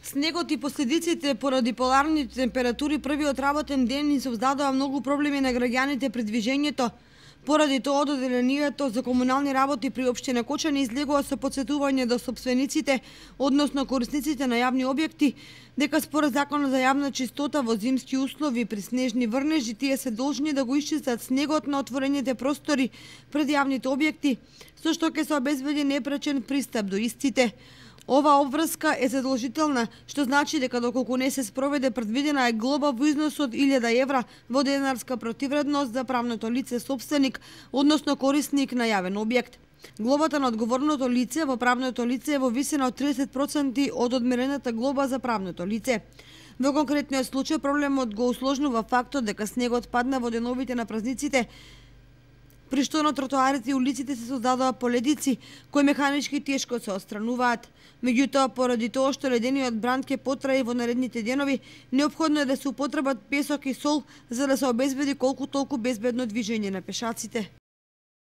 Снегот и последиците поради поларните температури првиот работен ден ни создадоа многу проблеми на граѓаните при движењето. Поради тоа одделението за комунални работи при општина Кочани излегува со потсетување до сопствениците, односно корисниците на јавни објекти, дека според Законот за јавна чистота во зимски услови при снежни врнежи тие се должни да го исчистат снегот на отворените простори пред јавните објекти, со што ќе се обезбеди непречен пристап до истите. Ова обврска е задолжителна, што значи дека доколку не се спроведе предвидена е глоба во износ од 1000 евра во денарска противредност за правното лице собственик, односно корисник на јавен објект. Глобата на одговорното лице во правното лице е во висина од 30% од одмерената глоба за правното лице. Во конкретниот случај проблемот го усложнува фактот дека снегот падна во деновите на празниците, при што на тротоарите и улиците се создадоа поледици, кои механички тешко се отстрануваат. Меѓутоа, поради тоа што ледениот бранд ќе потрае во наредните денови, неопходно е да се употребат песок и сол за да се обезбеди колку толку безбедно движење на пешаците.